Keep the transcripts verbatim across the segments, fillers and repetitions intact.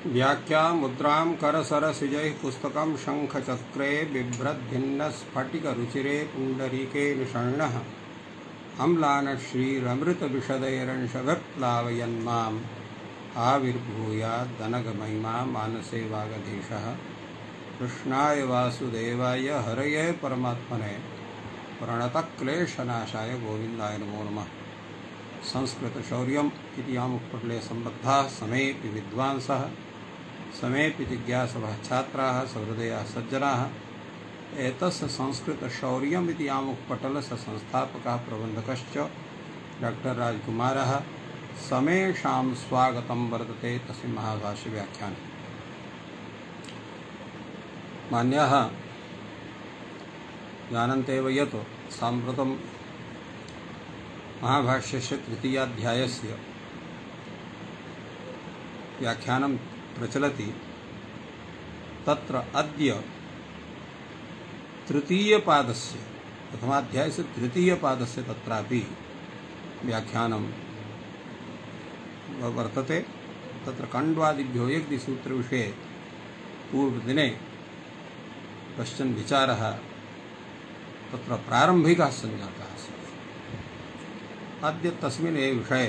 व्याख्या मुद्रां करसरसिजैः पुस्तकं शङ्खचक्रे बिभ्रद्भिन्नस्फटिकरुचिरे पुण्डरीके निषण्णः अम्लानश्रीरमृतविशदैरंशविप्लावयन्माम् आविर्भूयादनघमहिमा मानसे वागधीशः। कृष्णाय वासुदेवाय हरये परमात्मने प्रणतक्लेशनाशाय गोविन्दाय नमो नमः। संस्कृतशौर्यम् इति आमुखपटले सम्बद्धाः समेऽपि विद्वांसः समेऽपि जिज्ञासवः छात्राः सहृदयाः सज्जनाः एतस्य संस्कृतशौर्यम् इति आमुखपटलस्य संस्थापकः प्रबन्धकश्च डॉक्टर राजकुमारः समेषां स्वागतं वर्तते तस्मिन् महाभाष्यव्याख्याने। मान्याः जानन्तेव यत् साम्प्रतं महाभाष्यस्य तृतीयाध्यायस्य व्याख्यानं प्रचलति। तत्र अद्य तृतीयपादस्य प्रथमाध्यायस्य तृतीयपादस्य तत्रापि व्याख्यानं वर्तते। तत्र कण्वादिभ्यो यज्ञसूत्रविषये पूर्वदिने कश्चन विचारः तत्र प्रारम्भिकः सञ्जातः आसीत्। अद्य तस्मिन् एव विषये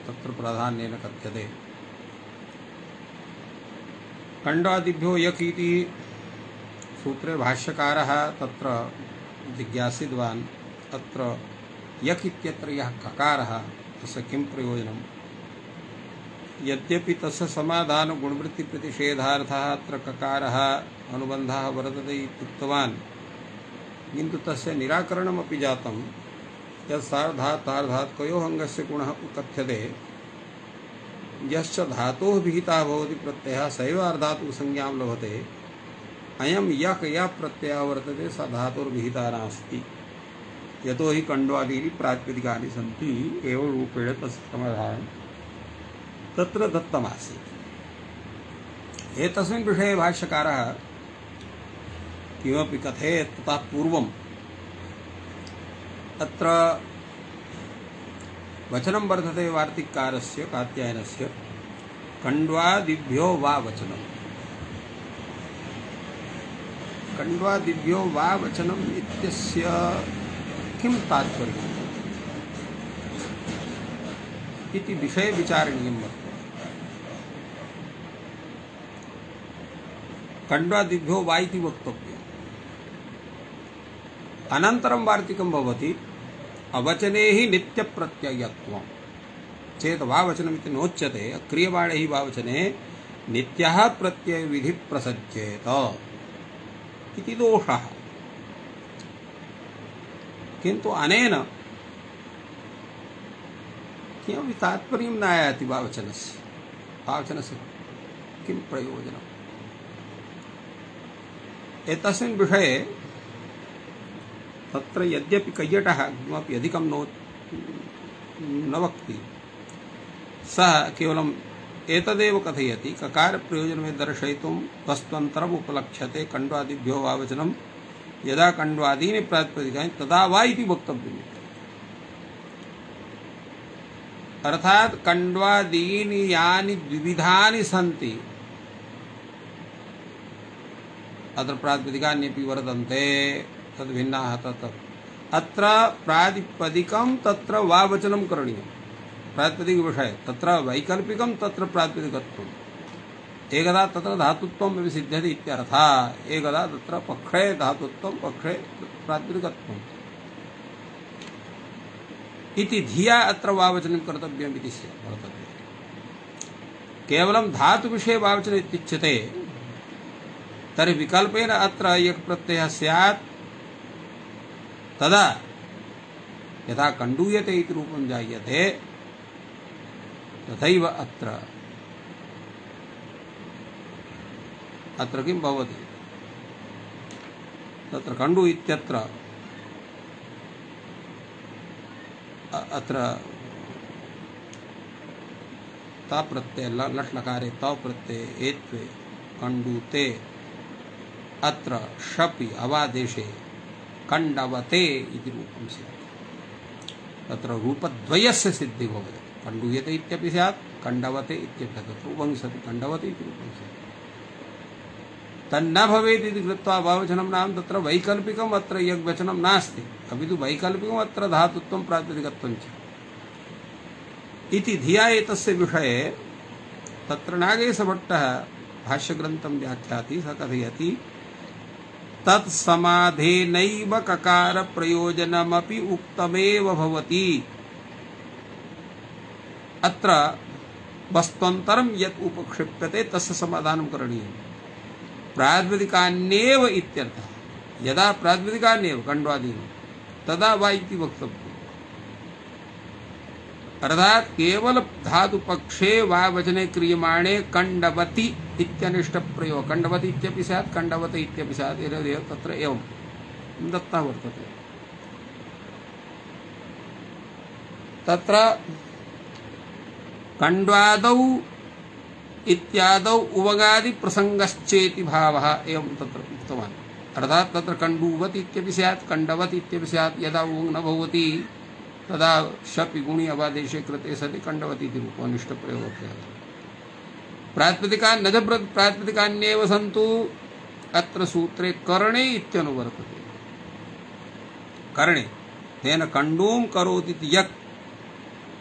तत्र प्राधान्येन कथ्यते। कण्वादिभ्यो यक् इति सूत्रे भाष्यकारः तत्र जिज्ञासितवान्, अत्र यक् इत्यत्र यः ककारः तस्य किं प्रयोजनं? यद्यपि तस्य समाधानगुणवृत्तिप्रतिषेधार्थः अत्र ककारः अनुबन्धः वर्तते इत्युक्तवान्, किन्तु तस्य निराकरणमपि जातं। यत् सार्धातार्धात्कयोः अङ्गस्य गुणः कथ्यते, यश्च धातोः विहितः भवति प्रत्ययः सैव अर्धातुकसंज्ञां लभते। अयं यक् यः प्रत्ययः वर्तते स धातुर्विहितः नास्ति, यतो हि कण्वादीनि प्रातिपदिकानि सन्ति। एवं रूपेण तस्य समाधानं तत्र दत्तमासीत्। एतस्मिन् विषये भाष्यकारः किमपि कथयेत् ततः पूर्वम् अत्र वचनं वर्तते वार्तिककारस्य कात्यायनस्य, कण्वादिभ्यो वा वचनम्। कण्वादिभ्यो वा वचनम् इत्यस्य किं तात्पर्यम् इति विषये विचारणीयं वर्तते। कण्वादिभ्यो वा इति वक्तव्यम्। अनन्तरं वार्तिकं भवति अवचने हि नित्यप्रत्ययत्वं चेत् वावचनमिति नोच्यते। क्रियमाणे हि वावचने नित्यः प्रत्ययविधिः प्रसज्येत इति दोषः। किन्तु अनेन किमपि तात्पर्यं न आयाति वावचनस्य। वावचनस्य किं प्रयोजनम्? एतस्मिन् विषये तत्र यद्यपि कैयटः किमपि अधिकं नो न वक्ति, सः केवलम् एतदेव कथयति, ककारप्रयोजनं दर्शयितुं वस्त्वन्तरम् उपलक्ष्यते कण्वादिभ्यो वा वचनं यदा कण्वादीनि प्रातिपदिकानि तदा वा इति वक्तव्यम्। अर्थात् कण्वादीनि यानि द्विविधानि सन्ति, अत्र प्रातिपदिकान्यपि वर्तन्ते, तद्भिन्नाः तत् अत्र प्रातिपदिकं तत्र वावचनं करणीयं। प्रातिपदिकविषये तत्र वैकल्पिकं तत्र प्रातिपदिकत्वम्, एकदा तत्र धातुत्वम् अपि सिद्ध्यति इत्यर्थः। एकदा तत्र पक्षे धातुत्वं पक्षे प्रातिपदिकत्वम् इति धिया अत्र वावचनं कर्तव्यम् इति वर्तते। केवलं धातुविषये वावचनम् इत्युच्यते तर्हि विकल्पेन अत्र यक् प्रत्ययः स्यात्, तदा यथा कण्डूयते इति रूपं जायते तथैव अत्र अत्र किं भवति? तत्र कण्डु इत्यत्र अत्र ता प्रत्यय लट् लकारे तौ प्रत्यये एत्वे कण्डूते, अत्र शपि अवादेशे कण्डवते इति रूपं स्यात्। तत्र रूपद्वयस्य सिद्धिः भवति। कण्डूयते इत्यपि स्यात्, कण्डवते इत्यपि तत्र उपनिषदि कण्डवते इति उपनिषदि तन्न भवेत् इति कृत्वा अभाववचनं नाम तत्र वैकल्पिकम् अत्र यद्वचनं नास्ति अपि तु वैकल्पिकम् अत्र धातुत्वं प्रातिपदिकत्वं च इति धिया एतस्य विषये तत्र नागेशभट्टः भाष्यग्रन्थं व्याख्याति स कथयति तत्समाधेनैव ककार प्रयोजनमपि उक्तमेव भवति अत्र वस्त्वन्तरं यत् उपक्षिप्यते तस्य समाधानं करणीयम् प्रातिपदिकान्येव इत्यर्थः यदा प्रातिपदिकान्येव कण्वादीनि तदा वा इति वक्तव्यम् अर्थात केवल धातु पक्षे वा वचने क्रियमाणे कण्डवति इत्यनिष्ठ प्रयोग कण्डवति इत्यपि स्यात् कण्डवते इत्यपि स्यात् एतदेव तत्र एवं दत्तः वर्तते तत्र कण्वादौ इत्यादौ उवगादि प्रसंगश्चेति भावः एवं तत्र उक्तवान् अर्थात तत्र कण्डुवति इत्यपि स्यात् कण्डवति इत्यपि स्यात् यदा उङ् न भवति तदा शपि गुणि अवादेशे कृते सति कण्डवति इति रूपनिष्ठ प्रयोगः भवति प्रातिपदिका नज प्रातिपदिकान्येव सन्तु अत्र सूत्रे करणे इत्यनुवर्तते करणे तेन कण्डूं करोति इति यक्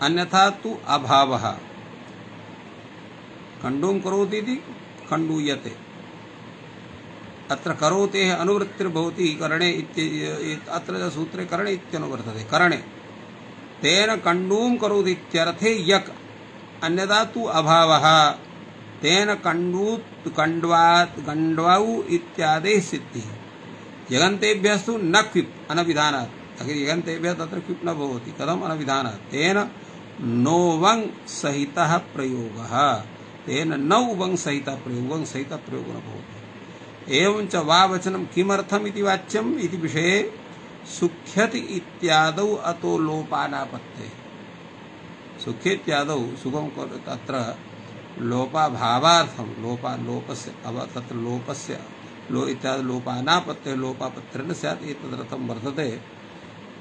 अन्यथा तु अभावः कण्डूं करोति इति कण्डूयते अत्र करोतेः अनुवृत्तिर्भवति करणे इत्य अत्र सूत्रे करणे इत्यनुवर्तते करणे तेन कण्डूं करोति इत्यर्थे यक् अन्यथा तु अभावः तेन कण्डू कण्ड्वात् कण्ड्वौ इत्यादेः सिद्धिः यगन्तेभ्यस्तु न क्विप् अनविधानात् यगन्तेभ्यः तत्र क्विप् न भवति कथम् अनविधानात् तेन नोवङ् सहितः प्रयोगः तेन न उवङ् सहितः प्रयोग उवङ् सहितः प्रयोगो न भवति एवं च वा वचनं किमर्थम् इति वाच्यम् इति विषये सुख्यति इत्यादौ अतो लोपानापत्ते सुख्येत्यादौ सुखं तत्र लोपाभावार्थं लोपा लोपस्य अव तत्र लोपस्य लो इत्यादि लोपानापत्ते लोपापत्रेण स्यात् एतदर्थं वर्तते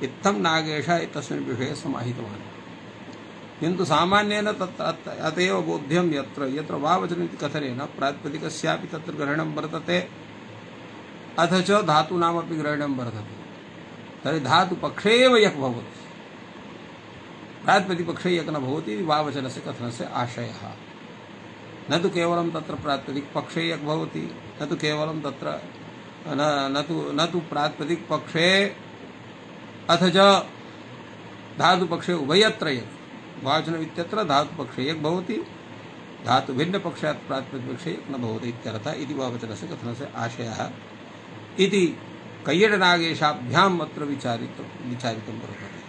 इत्थं नागेशः एतस्मिन् विषये समाहितवान् किन्तु सामान्येन तत्र अतएव बोध्यं यत्र यत्र वा वचनम् इति कथनेन प्रातिपदिकस्यापि तत्र ग्रहणं वर्तते अथ च धातूनामपि ग्रहणं वर्तते तर्हि धातुपक्षे एव यक् भवति प्रातिपदिकपक्षे यक् न भवति वा वचनस्य कथनस्य आशयः न तु केवलं तत्र प्रातिपदिकपक्षे यक् भवति न तु केवलं तत्र न तु न तु प्रातिपदिकपक्षे अथ च धातुपक्षे उभयत्र यक् वाचनम् इत्यत्र धातुपक्षे यक् भवति धातुभिन्नपक्षात् प्रातिपदिकपक्षे यक् न भवति इत्यर्थः इति वा वचनस्य कथनस्य आशयः इति कैयडनागेशाभ्याम् अत्र विचारितं विचारितं वर्तते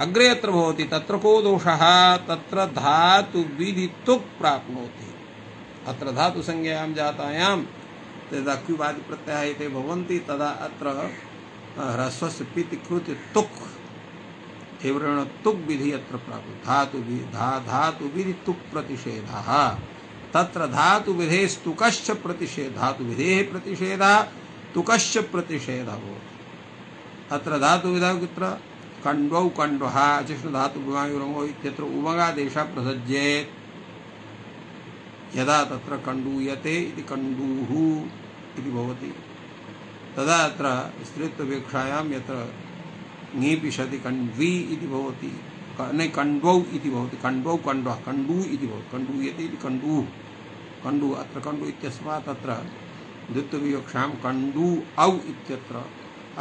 अग्रे अत्र भवति तत्र को दोषः तत्र धातुविधि तुक् प्राप्नोति अत्र धातुसंज्ञायां जातायां यदा क्युवादि प्रत्ययाः एते भवन्ति तदा अत्र ह्रस्वस्य पिति कृते तुक् एवरेण तुक् विधि अत्र प्राप्नोति धातुविधि धा धातुविधि तुक् प्रतिषेधः तत्र धातुविधेस्तुकश्च प्रतिषेधः धातुविधेः प्रतिषेधः तुकश्च प्रतिषेधः भवति अत्र धातुविधौ कुत्र कण्ड्वौ कण्ड्वः अचिष्णुधातुभ्यायुरङ्गौ इत्यत्र उमगादेशः प्रसज्येत् यदा तत्र कण्डूयते इति कण्डूः इति भवति तदा अत्र स्त्रीत्वपेक्षायां यत्र ङीपिषति कण्ड्वी इति भवति न कण्ड्वौ इति भवति कण्ड्वौ कण्ड्वः कण्डू इति भवति कण्डूयते इति कण्डूः कण्डू अत्र कण्डू इत्यस्मात् तत्र द्वित्वविवक्षां कण्डू औ इत्यत्र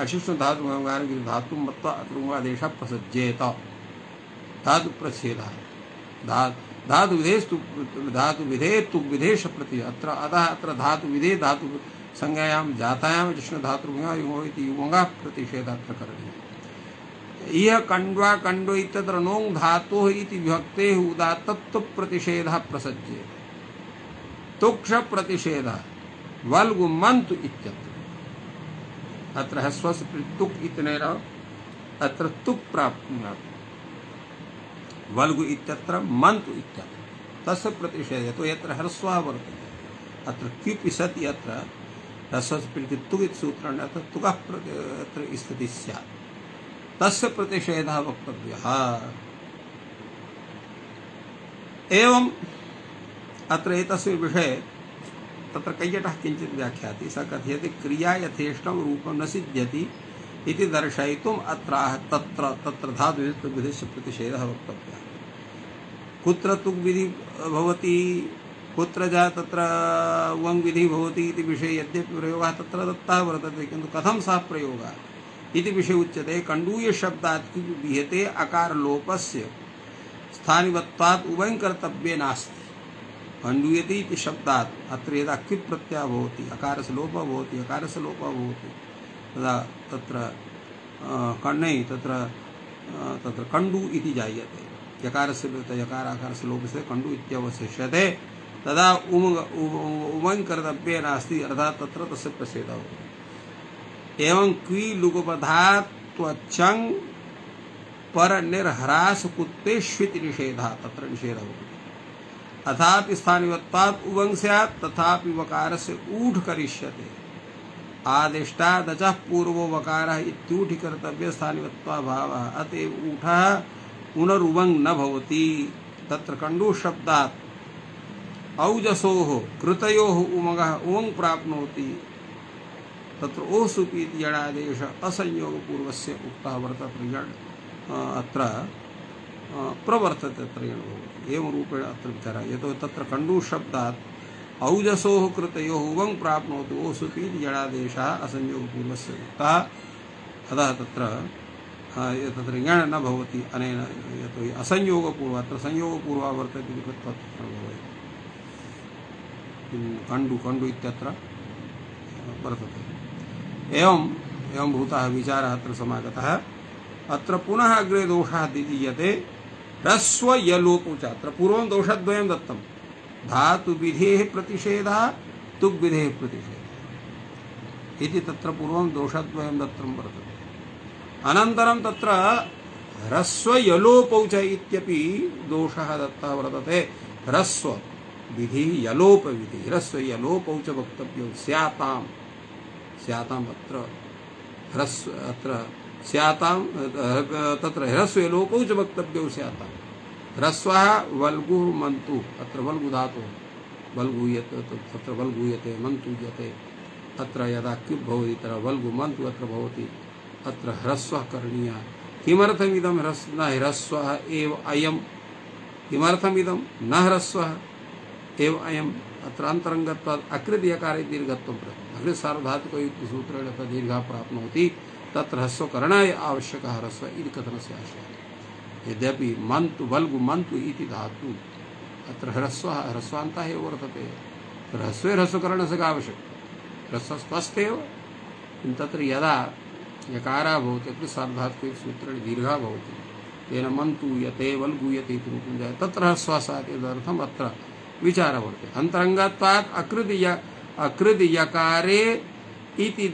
अशिष्णुधातु धातुं मत्वा अत्र उमादेशः प्रसज्येत धातुप्रच्छेदः धा धातुविधेस्तु धातुविधे तुग्विधेश प्रति अत्र अतः अत्र धातुविधे धातु संज्ञायां जातायां अशिष्णुधातुर्भुङ्गा युगो इति युगोङ्गः प्रतिषेधः अत्र करणीयः इह कण्ड्वा कण्डो इत्यत्र नोङ् धातोः इति विभक्तेः उदात्तत्व प्रतिषेधः प्रसज्येत तुक्ष प्रतिषेधः वल्गु मन्तु इत्यत्र अत्र ह्रस्वस्य तुक् इत्यनेन अत्र तुक् प्राप्नोति वल्गु इत्यत्र मन्तु इत्यत्र तस्य प्रतिषेधः तो यत्र ह्रस्वः वर्तते अत्र क्युपि सति अत्र ह्रस्वस्य तुक् इति सूत्रेण अत्र तुकः अत्र स्थितिः स्यात् तस्य प्रतिषेधः वक्तव्यः एवं अत्र एतस्मिन् विषये तत्र कैयटः किञ्चित् व्याख्याति। सः कथयति क्रिया यथेष्टं रूपं न सिद्ध्यति इति दर्शयितुम् अत्र तत्र तत्र धातुविधिश्च प्रतिषेधः वक्तव्यः। कुत्र तुक् विधि भवति, कुत्र जा तत्र वङ् विधि भवति इति विषये यद्यपि प्रयोगः तत्र दत्तः वर्तते, किन्तु कथं सः प्रयोगः इति विषये उच्यते। कण्डूय शब्दात् विहिते अकारलोपस्य स्थानिवत्वात् उभयं कर्तव्ये नास्ति। कण्डूयति इति शब्दात् अत्र यदा क्वित् प्रत्ययः भवति, अकारस्य लोपः भवति, अकारस्य लोपः भवति, तदा तत्र कण्णै तत्र तत्र कण्डु इति जायते। यकारस्य यकाराकारस्य लोपस्य कण्डु इत्यवशिष्यते। तदा उम उमङ् कर्तव्ये नास्ति, अर्थात् तत्र तस्य प्रषेधः भवति। एवं क्वि लुगपधात् त्वचङ् पर निर्ह्रास कुत्तेष्विति निषेधः, तत्र निषेधः भवति। अथापि स्थानिवत्वात् उवङ् स्यात्, तथापि वकारस्य ऊढ करिष्यते। आदिष्टादचः पूर्वो वकारः इत्यूढि कर्तव्य स्थानिवत्वाभावः, अतएव ऊठः पुनरुवङ् न भवति। तत्र कण्डू शब्दात् औजसोः कृतयोः उमगः उवङ् प्राप्नोति। तत्र ओसुपि इति यणादेश असंयोगपूर्वस्य उक्तः वर्तते। यण् अत्र प्रवर्तते, तत्र यण् भवति। एवं रूपेण अत्र विचारः। यतो तत्र कण्डू शब्दात् औजसोः कृतयोः उवङ् प्राप्नोति, ओसुपि इति यणादेशः असंयोगपूर्वस्य उक्तः। अतः तत्र तत्र यण् न भवति अनेन, यतो हि असंयोगपूर्वः, अत्र संयोगपूर्वः वर्तते इति कृत्वा तत्र भवति। कण्डु कण्डु इत्यत्र वर्तते। एवं एवं भूतः विचारः अत्र समागतः। अत्र पुनः अग्रे दोषः दीयते। ह्रस्व यलोपौ च, अत्र पूर्वं दोषद्वयं दत्तं। धातुविधेः प्रतिषेधः, तुग्विधेः प्रतिषेधः इति तत्र पूर्वं दोषद्वयं दत्तं वर्तते। अनन्तरं तत्र ह्रस्व यलोपौ च इत्यपि दोषः दत्तः वर्तते। ह्रस्व विधि यलोप विधि, ह्रस्व यलोपौ च वक्तव्यौ स्याताम् स्याताम् अत्र ह्रस्व अत्र स्याताम् तत्र ह्रस्व यलोपौ च वक्तव्यौ स्याताम्। ह्रस्वः वल्गुः मन्तु, अत्र वल्गु धातुः वल्गूयते, तत्र वल्गूयते मन्तूयते। अत्र यदा क्युब् भवति तत्र वल्गु मन्तु अत्र भवति। अत्र ह्रस्वः करणीयः। किमर्थमिदं ह्रस् न ह्रस्वः एव अयं, किमर्थमिदं न ह्रस्वः एव अयम्, अत्र अन्तरङ्गत्वात् अकृत् यकारे दीर्घत्वं प्रति अकृत् सार्वधातुकयुक्तसूत्रेण दीर्घः प्राप्नोति। तत्र ह्रस्वकरणाय आवश्यकः ह्रस्व इति कथनस्य आशयः। यद्यपि मन्तु वल्गु मन्तु इति धातु अत्र ह्रस्वः ह्रस्वान्तः एव वर्तते। ह्रस्वे ह्रस्वकरणस्य का आवश्यकता, ह्रस्वः स्वस्थेव। किन्तु तत्र यदा यकारः भवति अत्र सार्वधातुकसूत्रेण दीर्घः भवति, तेन मन्तूयते वल्गूयते इति रूपं जायते। तत्र ह्रस्वः स्यात् तदर्थम् अत्र विचारः वर्तते। अन्तरङ्गत्वात् अकृत् य अकृत् यकारे इति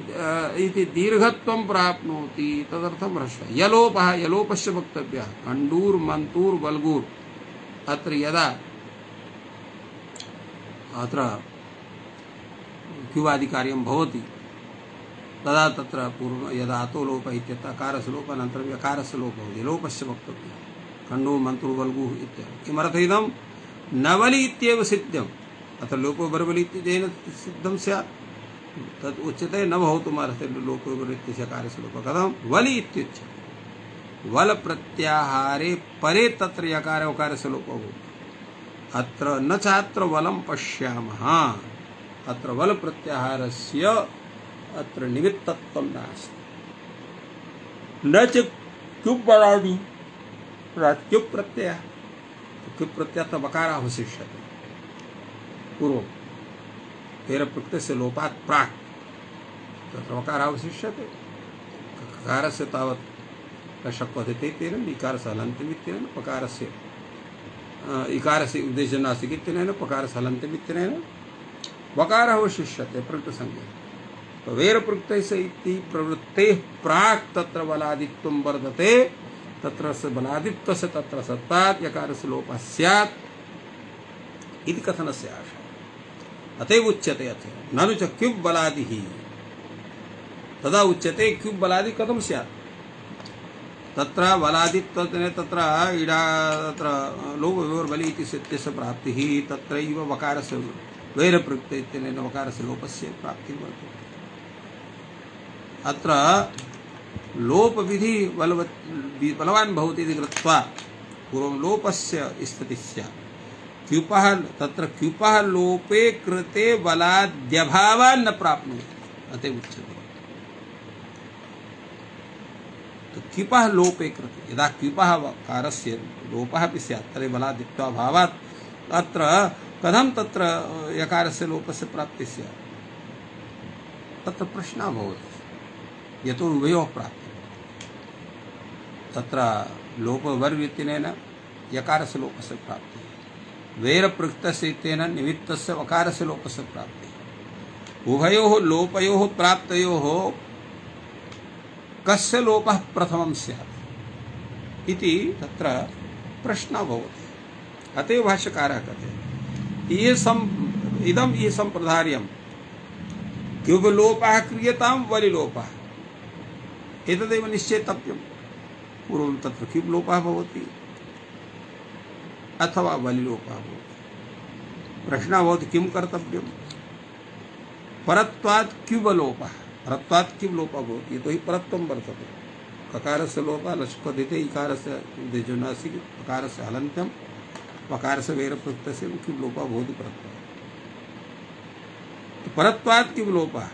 इति दीर्घत्वं प्राप्नोति, तदर्थं ह्रस्वः। यलोपः यलोपस्य वक्तव्यः। कण्डूर् मन्तूर् वल्गूर्, अत्र यदा अत्र क्युवादिकार्यं भवति तदा तत्र पूर्व यदा अतो लोपः इत्यत्र अकारस्य लोपः अनन्तरं यकारस्य लोपः भवति, लोपस्य वक्तव्यः। कण्डूर् मन्तूर् वल्गुः इत्यादि। किमर्थमिदं नवलि इत्येव सिद्धम्, अत्र लोपो बर्वलि इत्यनेन सिद्धं स्यात्। तत् उच्यते न भवितुमर्हति लोपो बर्वलि इत्यस्य कार्यस्य लोपः। कथं वलि इत्युच्यते। वल प्रत्याहारे परे तत्र यकार उकारस्य लोपो भवति। अत्र न चात्र वलं पश्यामः, अत्र वल प्रत्याहारस्य अत्र निमित्तत्वं नास्ति। न च क्युब् बलादि क्युब् प्रत्ययः, क्युब् प्रत्ययः वकारः अवशिष्यते पूर्वं तेन प्रत्ययस्य लोपात् प्राक् तत्र वकारः अवशिष्यते। ककारस्य तावत् शक्वते तेन इकारस्य हलन्तमित्यनेन पकारस्य इकारस्य उद्देश्यं नास्ति इत्यनेन पकारस्य हलन्तमित्यनेन वकारः अवशिष्यते प्रकृतसंज्ञा। वेर प्रत्ययस्य इति प्रवृत्तेः प्राक् तत्र बलादित्वं वर्तते। तत्र स बलादित्वस्य तत्र सत्तात् यकारस्य लोपः स्यात् इति कथनस्य आशयः। अतएव उच्यते अथ ननु च क्युब् बलादिः, तदा उच्यते क्युब् बलादि कथं स्यात्। तत्र बलादित्वतेन तत्र इडा तत्र लोपवियोर्बलि इति सत्यस्य प्राप्तिः तत्रैव वकारस्य वैरप्रयुक्तेन वकारस्य लोपस्य प्राप्तिः वर्तते। अत्र लोपविधि बलवत् बलवान् भवति इति कृत्वा पूर्वं लोपस्य स्थितिः स्यात्। क्युपः तत्र क्युपः लोपे कृते बलाद्यभावान् न प्राप्नोति अतः उच्यते। तो क्युपः लोपे कृते यदा क्युपः कारस्य लोपः अपि स्यात् तर्हि बलादित्वाभावात् अत्र कथं तत्र यकारस्य लोपस्य प्राप्तिः स्यात् तत्र प्रश्नः भवति। यतो उभयोः प्राप्तिः तत्र लोपवर्वितिनेन यकारस्य लोपस्य प्राप्तिः वैरप्रयुक्तस्य इत्यनेन निमित्तस्य वकारस्य लोपस्य प्राप्तिः उभयोः लोपयोः प्राप्तयोः कस्य लोपः प्रथमं स्यात् इति तत्र प्रश्नः भवति। अतएव भाष्यकारः कहते ये सम इदं ये संप्रदार्यं क्युबलोपः क्रियतां वलिलोपः एतदेव निश्चेतव्यम्। पूर्वं तत्र क्युबलोपः भवति अथवा वलिलोपः भवति। प्रश्नः भवति किं कर्तव्यं परत्वात् क्युबलोपः परत्वात् क्युबलोपः भवति यतो हि परत्वं वर्तते। ककारस्य लोपः लक्ष्यपदिते इकारस्य देजुनासि ककारस्य हलन्त्यं वकारस्य वैरप्रयुक्तस्य क्युबलोपः भवति परत्वात्। परत्वात् क्युबलोपः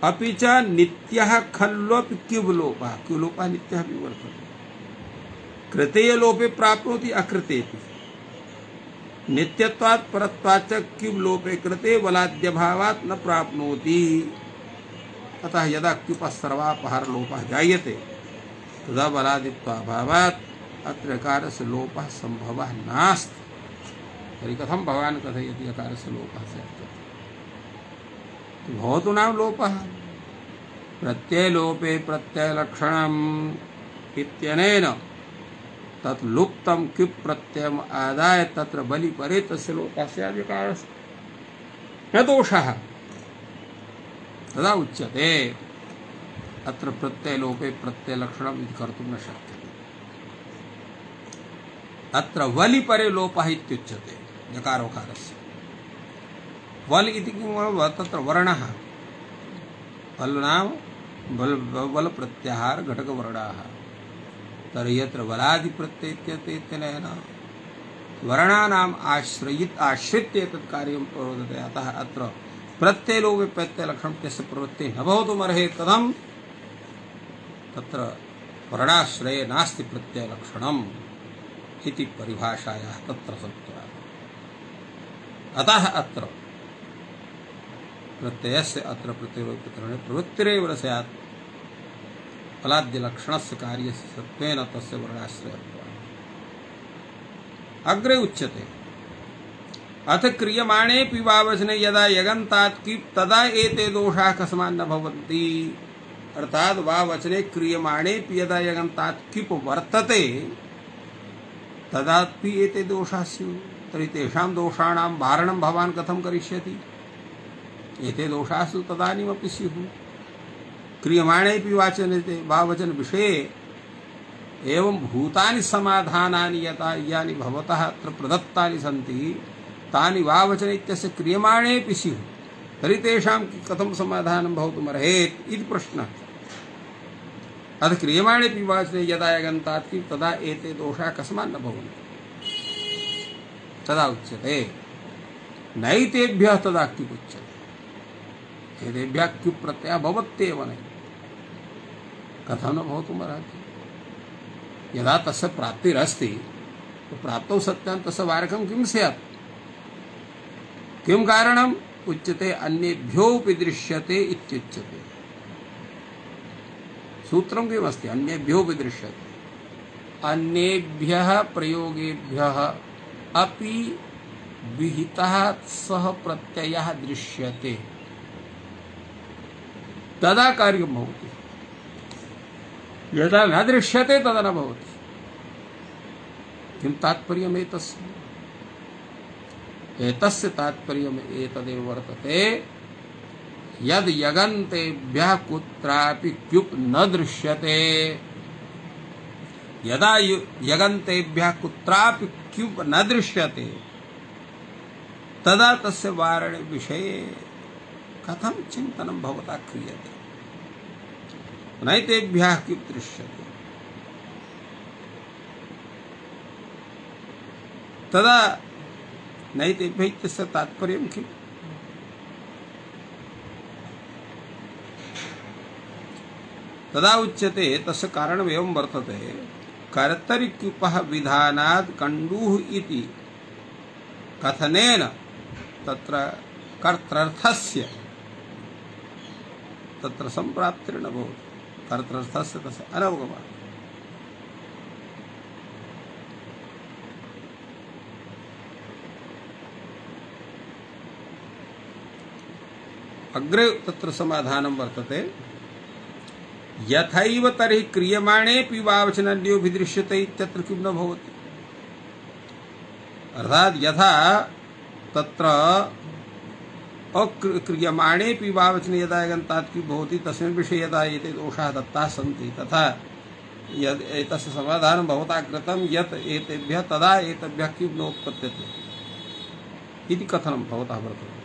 अपि च नित्यः खल्वपि क्युबलोपः क्युबलोपः नित्यः अपि वर्तते। कृतेयलोपे प्राप्नोति अकृतेपि नित्यत्वात् परत्वात् च क्युबलोपे कृते बलाद्यभावात् न प्राप्नोति। अतः यदा क्युपः सर्वापहार लोपः जायते तदा बलादित्वाभावात् अत्र यकारस्य लोपः संभवः नास्ति। तर्हि कथं भवान् कथयति यकारस्य लोपः स्यात्? भवतु नाम लोपः प्रत्ययलोपे प्रत्ययलक्षणम् इत्यनेन तत् लुप्तं क्युप् प्रत्ययम् आदाय तत्र बलि परे तस्य लोपः स्यात् यकारस्य न दोषः तदा उच्यते अत्र प्रत्ययलोपे प्रत्ययलक्षणम् इति कर्तुं न शक्यते। अत्र वलि परे लोपः इत्युच्यते यकारोकारस्य। वल इति किं तत्र वर्णः वल नाम बल बल प्रत्याहार घटकवर्णाः। तर्हि यत्र वलादि प्रत्ययेन वर्णानाम् आश्रयित आश्रित्य तत् कार्यं प्रवर्तते। अतः अत्र प्रत्ययलोपे प्रत्ययलक्षणं तस्य प्रवृत्तिः न भवितुमर्हेत्। कथं तत्र वर्णाश्रये नास्ति प्रत्ययलक्षणम् इति परिभाषायाः तत्र सत्त्वात्। अतः अत्र प्रत्ययस्य अत्र प्रत्ययलोपप्रकरणे प्रवृत्तिरेव स्यात् फलाद्यलक्षणस्य कार्यस्य सत्त्वेन तस्य वर्णाश्रयत्वात्। अग्रे उच्यते अथ क्रियमाणेऽपि वा वचने यदा यगन्तात् किप् तदा एते दोषाः कस्मान् न भवन्ति। अर्थात् वा वचने क्रियमाणेऽपि यदा यगन्तात् किप् वर्तते तदापि एते दोषाः स्युः। तर्हि तेषां दोषाणां वारणं भवान् कथं करिष्यति? एते दोषाः तदानीमपि स्युः। क्रियमाणेऽपि वाचने वा वचन विषये एवं भूतानि समाधानानि यथा यानि भवतः अत्र प्रदत्तानि सन्ति तानि वा वचने इत्यस्य क्रियमाणेऽपि स्युः। तर्हि तेषां कथं समाधानं भवितुमर्हेत् इति प्रश्नः। अथ क्रियमाणेऽपि वाचने यदा यगन्तात् कि तदा एते दोषाः कस्मान् न भवन्ति। तदा उच्यते नैतेभ्यः तदा क्युप् उच्यते। एतेभ्यः क्युप् प्रत्ययः भवत्येव नैव। कथं न भवितुमर्हति? यदा तस्य प्राप्तिरस्ति तो प्राप्तौ सत्यां तस्य वारकं किं स्यात्? किं कारणम् उच्यते अन्येभ्योऽपि दृश्यते इत्युच्यते। सूत्रं किमस्ति? अन्येभ्योऽपि दृश्यते। अन्येभ्यः प्रयोगेभ्यः अपि विहितः सः प्रत्ययः दृश्यते तदा कार्यं भवति। यदा न दृश्यते तदा न भवति। किं तात्पर्यम् एतस्य? एतस्य तात्पर्यम् एतदेव वर्तते यद् यगन्तेभ्यः कुत्रापि क्युप् न दृश्यते यदा यगन्तेभ्यः कुत्रापि क्यूप् न दृश्यते तदा तस्य वारणे विषये कथं चिन्तनं भवता क्रियते। नैतेभ्यः क्यूप् दृश्यते तदा नैतेभ्यः इत्यस्य तात्पर्यं किम्? तदा उच्यते तस्य कारणम् एवं वर्तते कर्तरिक्यूपः विधानात् कण्डूः इति कथनेन तत्र कर्तृर्थस्य तत्र सम्प्राप्तिर्न भवति। कर्तृर्थस्य तस्य अनवगमः। अग्रे तत्र समाधानं वर्तते यथैव तर्हि क्रियमाणेऽपि वावचनन्यो विदृश्यते इत्यत्र किं न भवति। अर्थात यथा तत्र अक्रियमाणेऽपि वावचने यदा यगन्तात् किं भवति तस्मिन् विषये यदा एते दोषाः दत्ताः सन्ति तथा यद् एतस्य समाधानं भवता कृतं यत् एतेभ्यः तदा एतेभ्यः किं नोत्पद्यते इति कथनं भवतः वर्तते।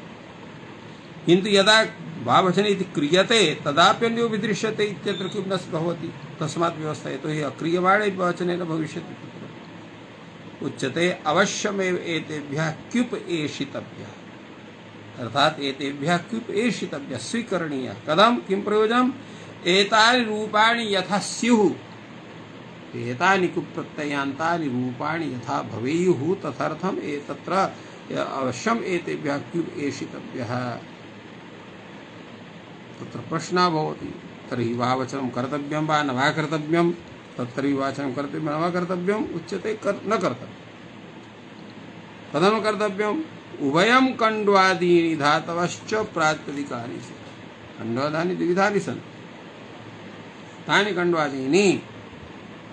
किन्तु यदा वावचने इति क्रियते तदाप्यन्यो विदृश्यते इत्यत्र किं न भवति। तस्मात् व्यवस्था यतो हि अक्रियमाणे वचनेन भविष्यति। उच्यते अवश्यमेव एतेभ्यः क्युप् एषितव्यः। अर्थात एतेभ्यः क्युप् एषितव्यः स्वीकरणीयः। कथं किं प्रयोजनम्? एतानि रूपाणि यथा स्युः एतानि कुप् प्रत्ययान्तानि रूपाणि यथा भवेयुः तदर्थम् एतत्र अवश्यम् एतेभ्यः क्युप् एषितव्यः। तत्र प्रश्नः भवति तर्हि वावचनं कर्तव्यं वा न वा कर्तव्यं? तत्तर्हि वाचनं कर्तव्यं न वा कर्तव्यम्? उच्यते कर न कर्तव्यं। कथं कर्तव्यम्? उभयं कण्ड्वादीनि धातवश्च प्रातिपदिकानि सन्ति। कण्ड्वादीनि द्विविधानि सन्ति। तानि कण्ड्वादीनि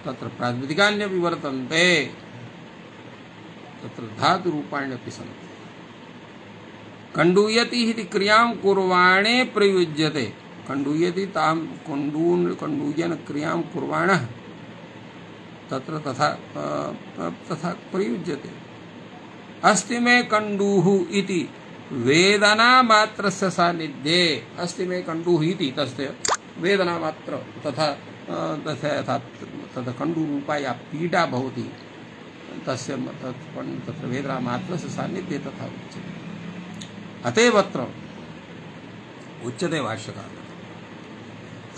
तत्र प्रातिपदिकान्यपि वर्तन्ते तत्र धातुरूपाण्यपि सन्ति। कण्डूयति इति क्रियां कुर्वाणे प्रयुज्यते। कण्डूयति तां कण्डून् कण्डूयन क्रियां कुर्वाणः तत्र तथा तथा प्रयुज्यते। अस्ति मे कण्डूः इति वेदना मात्रस्य सान्निध्ये। अस्ति मे कण्डूः इति तस्य वेदना मात्र तथा तस्य यथा तथा कण्डूरूपा या पीडा भवति तस्य तत्र वेदना मात्रस्य सान्निध्ये तथा उच्यते। अतएव अत्र उच्यते भाष्यकारेण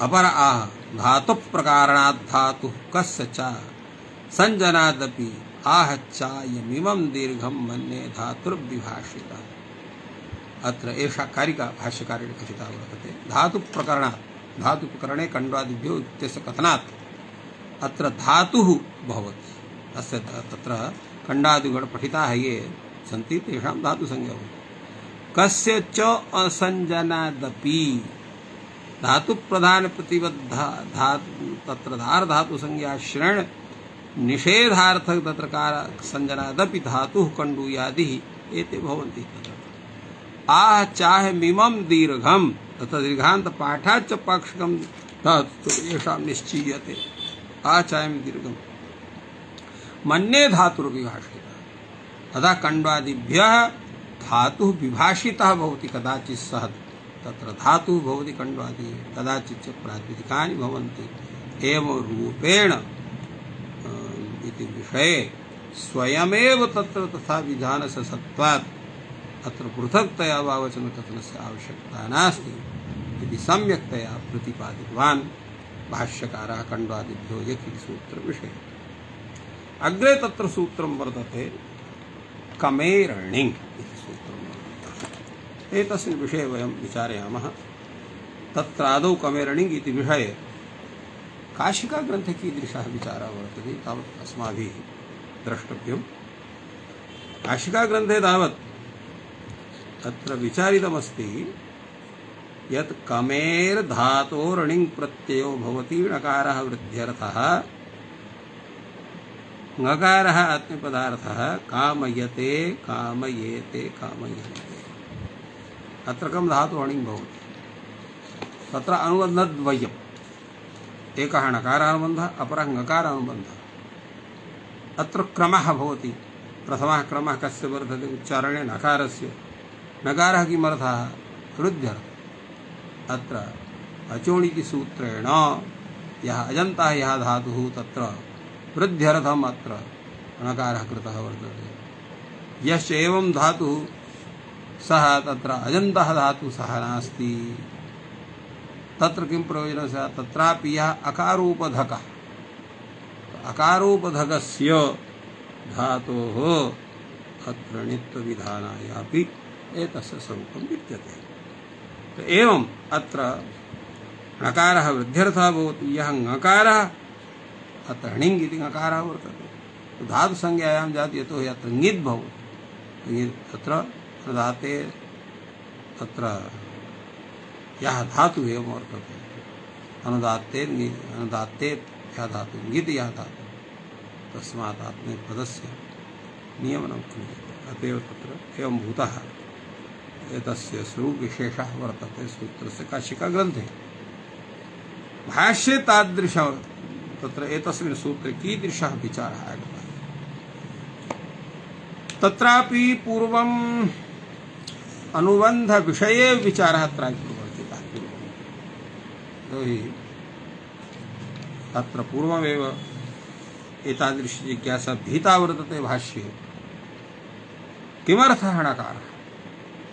अपर आह धातु प्रकारणात् धातुः कस्य च संजनादपि आह चायमिमं दीर्घं मन्ये धातुर्विभाषितः। अत्र एषा कारिका भाष्यकारेण कथिता वर्तते। धातु प्रकरणात् धातु प्रकरणे कण्ड्वादिभ्यो इत्यस्य कथनात् अत्र धातुः भवति। अस्य तत्र कण्डादिगण पठिताः ये सन्ति तेषां धातुसंज्ञा भवति। कस्य च असंजनादपि धातु प्रधान प्रतिबद्धा धातु तत्र धार धातु संज्ञा श्रेण निषेधार्थक तत्र कार संजनादपि धातुः कण्डूयादिः एते भवन्ति। तत्र आह चाह मिमं दीर्घं तत्र दीर्घान्त पाठाच्च पाक्षिकं धातु येषां निश्चीयते। आह चायं दीर्घं मन्ये धातुर्विभाषितः। अतः कण्ड्वादिभ्यः धातुः विभाषितः भवति। कदाचित् सः तत्र धातुः भवति कण्ड्वादि कदाचित् प्रातिपदिकानि भवन्ति। एवं रूपेण इति विषये स्वयमेव तत्र तथा विधानस्य सत्त्वात् अत्र पृथक्तया वावचनकथनस्य आवश्यकता नास्ति इति सम्यक्तया प्रतिपादितवान् भाष्यकारः कण्ड्वादिभ्यो यक् इति सूत्रविषये। अग्रे तत्र सूत्रं वर्तते कमेरणिङ् इति सूत्रं वर्तते। एतस्मिन् विषये वयं विचारयामः। तत्र आदौ कमेरणिङ् इति विषये काशिकाग्रन्थे कीदृशः विचारः वर्तते तावत् अस्माभिः द्रष्टव्यम्। काशिकाग्रन्थे तावत् तत्र विचारितमस्ति यत् कमेर् धातोरणिङ् प्रत्ययो भवति णकारः वृद्ध्यर्थः ङकारः आत्मपदार्थः कामयते कामयेते कामयन्ते। अत्र कं धातु अणिङ् भवति। तत्र अनुबन्धद्वयम् एकः णकारानुबन्धः अपरः ङकारानुबन्धः। अत्र क्रमः भवति। प्रथमः क्रमः कस्य वर्तते? उच्चारणे नकारस्य। नकारः किमर्थः? वृद्ध्यर्थः। अत्र अचोणिति सूत्रेण यः अजन्तः यः धातुः तत्र वृद्ध्यर्थम् अत्र णकारः कृतः वर्तते। यश्च एवं धातुः सः तत्र अजन्तः धातुः सः नास्ति। तत्र किं प्रयोजनं स्यात्? तत्रापि यः अकारोपधकः, अकारोपधकस्य धातोः अत्र णित्वविधानाय अपि एतस्य स्वरूपं विद्यते। एवम् अत्र णकारः वृद्ध्यर्थः भवति। यः ङकारः अत्र णिङ् इति ङकारः वर्तते। धातुसंज्ञायां जाति यतोहि अत्र ङित् भवति। तत्र धाते तत्र यः धातुः एवं वर्तते। अनुदात्ते अनुदात्ते यः धातुः ङित् यः धातुः तस्मात् आत्मनेपदस्य नियमनं क्रियते। अत एव तत्र एवं भूतः एतस्य स्वरूपविशेषः वर्तते सूत्रस्य काशिकाग्रन्थे। भाष्ये तादृश तत्र एतस्मिन् सूत्रे कीदृशः विचारः आगतः? तत्रापि पूर्वम् अनुबन्धविषये विचारः अत्र प्रवर्तितः। यतोहि तत्र पूर्वमेव एतादृशी जिज्ञासा भीता वर्तते भाष्ये। किमर्थः णकारः?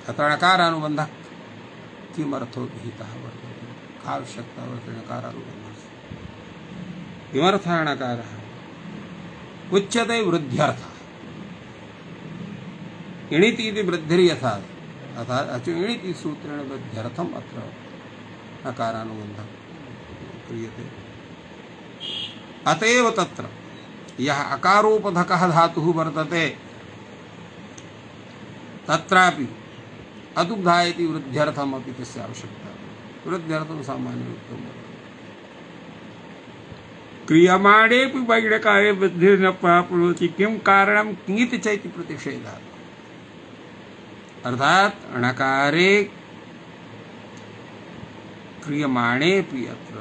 अत्र णकारानुबन्धः किमर्थो भीतः वर्तते? का आवश्यकता वर्तते णकारानुबन्धस्य? किमर्थः णकारः? उच्यते वृद्ध्यर्थः। इणिति इति वृद्धिर्यथा अतः अचो इणिति सूत्रेण वृद्ध्यर्थम् अत्र णकारानुबन्धः क्रियते। अतएव तत्र यः अकारोपधकः धातुः वर्तते तत्रापि अदुग्धा इति वृद्ध्यर्थम् अपि तस्य आवश्यकता। वृद्ध्यर्थं सामान्ययुक्तं वर्तते। क्रियमाणेऽपि वैणकारे वृद्धिर्न प्राप्नोति किं कारणं किङिति चैति प्रतिषेधः। अर्थात णकारे क्रियमाणेऽपि अत्र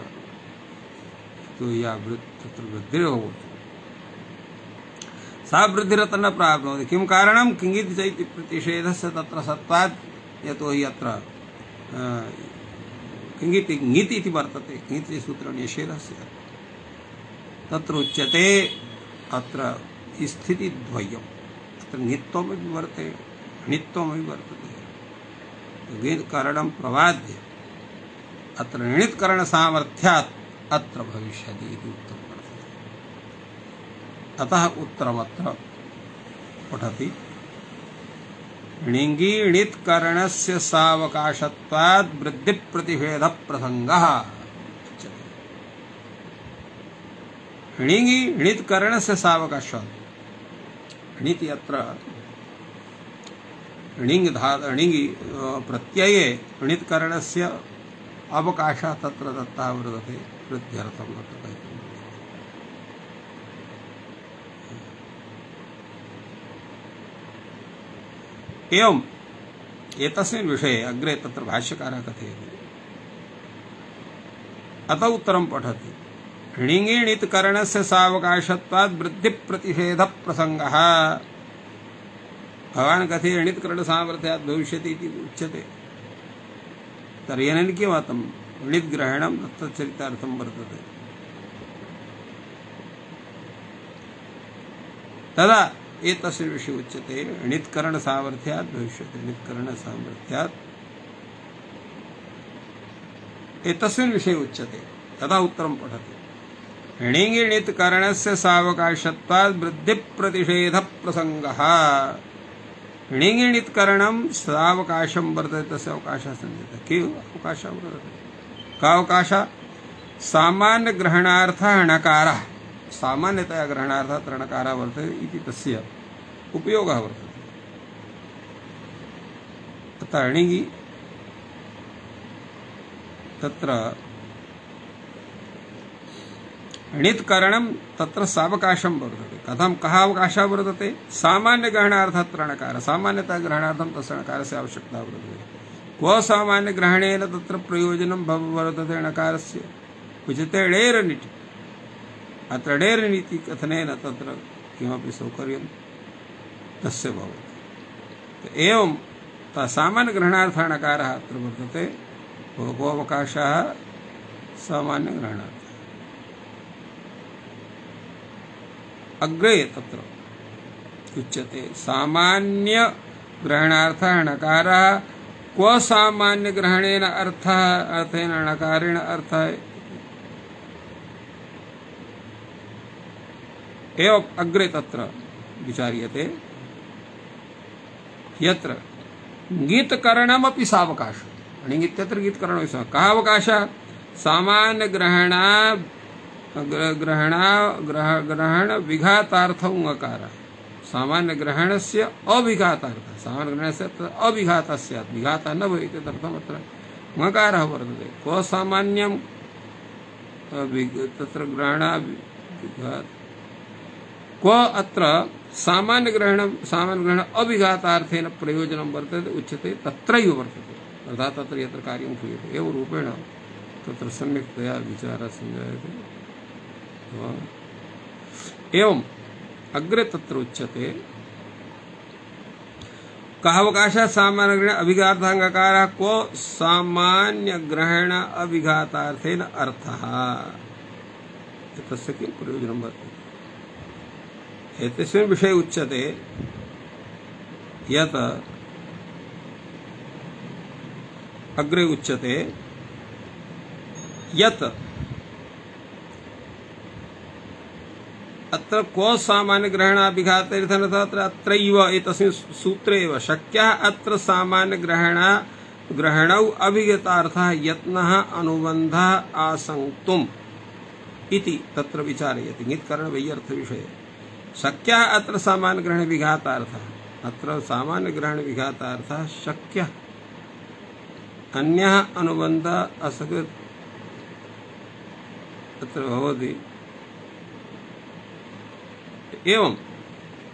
तो या तत्र वृद्धिर्भवति। सा वृद्धिरत्र न प्राप्नोति। किं कारणं किङिति चैति प्रतिषेधस्य तत्र सत्त्वात्। यतोहि अत्र किङिति ङिति इति वर्तते। ङिति सूत्रेण निषेधः स्यात्। तत्र उच्यते अत्र स्थितिद्वयम्। अत्र ङित्वमपि वर्तते णित्वमपि वर्तते। ङित्करणं प्रवाद्य अत्र णित्करणसामर्थ्यात् अत्र भविष्यति इति उक्तं वर्तते। अतः उत्तरमत्र पठति णिङि णित्करणस्य सावकाशत्वात् वृद्धिप्रतिषेधप्रसङ्गः। णिङि णित्करणस्य सावकाशात्। णिति अत्र णिङ् धा णिङि प्रत्यये णित्करणस्य अवकाशः तत्र दत्तः वर्तते। वृद्ध्यर्थं वर्तते। एवम् एतस्मिन् विषये अग्रे तत्र भाष्यकारः कथयति। अत उत्तरं पठति णिङि णित्करणस्य सावकाशत्वात् वृद्धिप्रतिषेधप्रसङ्गः। भवान् कथयति णित्करणसामर्थ्यात् भविष्यति इति उच्यते। तर्हि अनेन किमर्थं? णिद्ग्रहणं तत्चरितार्थं वर्तते। तदा एतस्य विषये उच्यते णित्करणसामर्थ्यात् भविष्यति। णित्करणसामर्थ्यात् एतस्मिन् विषये उच्यते। तदा उत्तरं पठति णिङि णित्करणस्य सावकाशत्वात् वृद्धिप्रतिषेधप्रसङ्गः। णिङि णित्करणं सावकाशं वर्तते। तस्य अवकाशः सञ्जातः। के अवकाशः वर्तते? का अवकाशः? सामान्यग्रहणार्थः णकारः। सामान्यतया ग्रहणार्थः अत्र णकारः वर्तते इति तस्य उपयोगः वर्तते। तथा णिङि तत्र णित्करणं तत्र सावकाशं वर्तते। कथं कः अवकाशः वर्तते? सामान्यग्रहणार्थः अत्र णकारः। सामान्यतः ग्रहणार्थं तस्य णकारस्य आवश्यकता वर्तते। क्व सामान्यग्रहणेन तत्र प्रयोजनं वर्तते णकारस्य? उच्यते णेर् णिति। अत्र णेर् णिति कथनेन तत्र किमपि सौकर्यं तस्य भवति। एवं सामान्यग्रहणार्थाणकारः अत्र वर्तते, भोगोऽवकाशः सामान्यग्रहणार्थः। अग्रे तत्र उच्यते सामान्यग्रहणार्थः णकारः क्व सामान्यग्रहणेन अर्थः अर्थेन णकारेण अर्थः। एवं अग्रे तत्र विचार्यते यत्र गीतकरणमपि सावकाशः। अणिगित्यत्र गीतकरणमपि सावकाशः। कः अवकाशः? सामान्यग्रहण ग्रहण ग्रह ग्रहण विघातार्थं ङकारः। सामान्यग्रहणस्य अविघातार्थः। सामान्यग्रहणस्य अविघातः स्यात्, विघातः न भवेत् इत्यर्थम् अत्र ङकारः वर्तते। क्व सामान्यं तत्र ग्रहण क्व अत्र सामान्यग्रहणं सामान्यग्रहण अविघातार्थेन प्रयोजनं वर्तते उच्यते तत्रैव वर्तते, अर्थात् तत्र यत्र कार्यं क्रियते एवं रूपेण तत्र सम्यक्तया विचारः संजायते। एवं अग्रे तत्र उच्यते कः अवकाशः सामान्यग्रहण अभिघाताङ्गकारः क्व सामान्यग्रहण अभिघातार्थेन अर्थः। तस्य किं प्रयोजनं वर्तते? एतस्मिन् विषये उच्यते यत् अग्रे उच्यते यत् अत्र क्व सामान्यग्रहणाभिघातेर्थः अत्र अत्रैव एतस्मिन् सूत्रे एव शक्यः अत्र सामान्यग्रहण ग्रहणौ अभिगतार्थः यत्नः अनुबन्धः आसङ्क्तुम् इति तत्र विचारयति। गीतकरणवैयर्थविषये शक्यः अत्र सामान्यग्रहणविघातार्थः। अत्र सामान्यग्रहणविघातार्थः शक्यः, अन्यः अनुबन्धः असकृत् अत्र भवति। एवं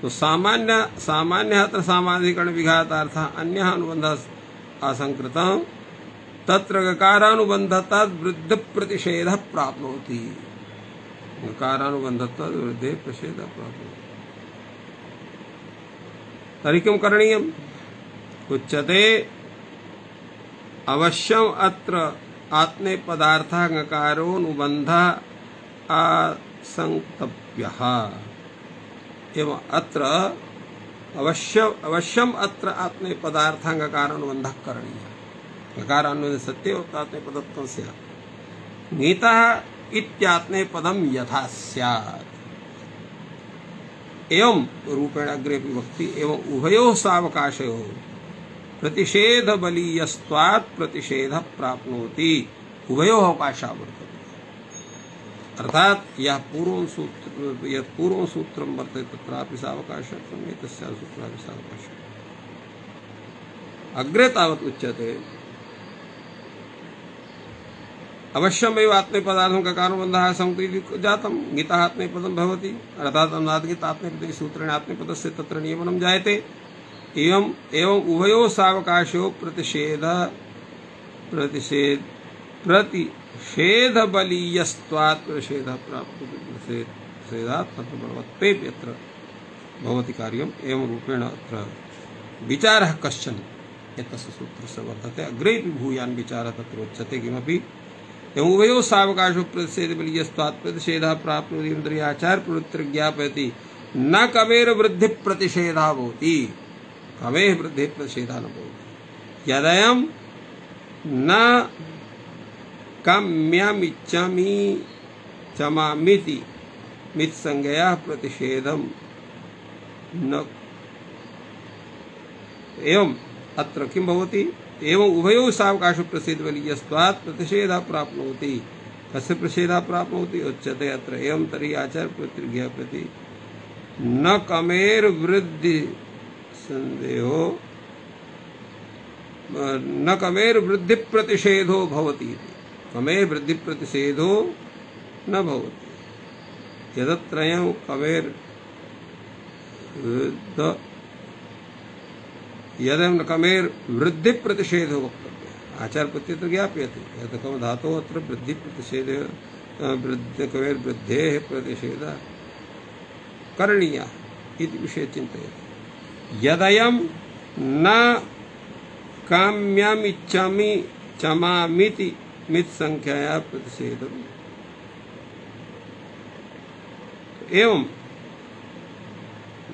तो सामान्य सामान्य अत्र सामान्यकरण विघातार्थः अन्यः अनुबन्धः असंकृतः तत्र गकारानुबन्धत्वात् वृद्धि प्रतिषेधः प्राप्नोति। गकारानुबन्धत्वात् वृद्धि प्रतिषेधः प्राप्नोति। तर्हि किं करणीयम्? उच्यते अवश्यम् अत्र आत्मनेपदार्थः गकारोनुबन्धः आसंक्तव्यः। एवं अत्र अवश्य अवश्यम अत्र आत्मनेपदार्थः गकारानुबन्धः करणीयः। गकारानुबन्धः सत्येव आत्मनेपदत्वं स्यात्। नीतः इत्यात्मनेपदं यथा स्यात्। एवं रूपेण अग्रे विभक्ति एवं उभयोः सावकाशयोः प्रतिषेधबलीयस्त्वात् प्रतिषेधः प्राप्नोति। उभयोः अवकाशः वर्तते। अर्थात यह पूर्व सूत्र यह पूर्व सूत्रम वर्तते तत्रापि सावकाशः एतस्याः सूत्रापि सावकाशः। अग्रे तावत् उच्यते अवश्यमेव आत्मनेपदार्थं गकारानुबन्धः संक्तः जातं। गीतः आत्मनेपदं भवति, अर्थात् अनादिगीत आत्मनेपदे सूत्रेण आत्मनेपदस्य तत्र नियमनं जायते। एवं एवं उभयोः सावकाशयोः प्रतिषेध प्रतिषेध प्रतिषेधबलीयस्त्वात् प्रतिषेधः प्राप्नोति। प्रतिषेधात् तत्र बलवत्वेपि अत्र भवति कार्यम्। एवं रूपेण अत्र विचारः कश्चन एतस्य सूत्रस्य वर्तते। अग्रेपि भूयान् विचारः तत्र उच्यते किमपि एवं उभयोः सावकाशो प्रतिषेधबलीयस्त्वात् प्रतिषेधः प्राप्नोति। इन्द्रियाचार प्रवृत्तिर् ज्ञापयति न कवेर वृद्धि प्रतिषेधः भवति। कवेः वृद्धि प्रतिषेधः न भवति। यदयं न काम्यमिच्छामि चमामिति मित्संज्ञया प्रतिषेधं न। एवं अत्र किं भवति? एवं उभयोः सावकाशो प्रतिषेधबलीयस्त्वात् प्रतिषेधः प्राप्नोति। कस्य प्रतिषेधः प्राप्नोति? उच्यते अत्र एवं तर्हि आचार्यप्रवृत्तिर्ज्ञापयति न कमेर वृद्धि संदेहो न कमेर वृद्धि प्रतिषेधो भवति। कमेर वृद्धि प्रतिषेधो न भवति। यदत्रयं कमेर यदं न कमेर वृद्धि प्रतिषेधो वक्तव्यः। आचार्यप्रत्ययः ज्ञापयति यत् कम धातोः अत्र वृद्धि प्रतिषेधः वृद्धि कमेर वृद्धेः प्रतिषेधः करणीयः इति विषये चिन्तयति। यदयं न काम्यमिच्छामि चमामीति मितसंख्यया प्रतिषेधम्। एवं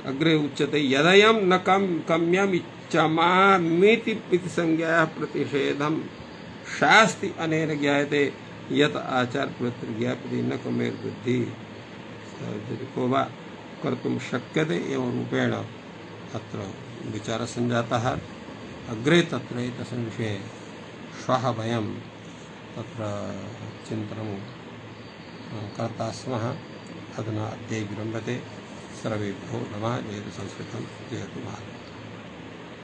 अग्रे उच्यते यदयं न कम काम्यमिच्छामीति मितसंख्यया प्रतिषेधम् शास्ति अनेन ज्ञायते यत आचार प्रत्यज्ञापति न कमेर्बुद्धि को वा कर्तुं शक्यते एवं रूपेण अत्र विचारः सञ्जातः। अग्रे तत्र एतस्मिन् विषये श्वः वयं तत्र चिन्तनं कर्ता स्मः। अधुना अद्य विरम्यते। सर्वेभ्यो नमः। जयतु संस्कृतं, जयतु भारतम्।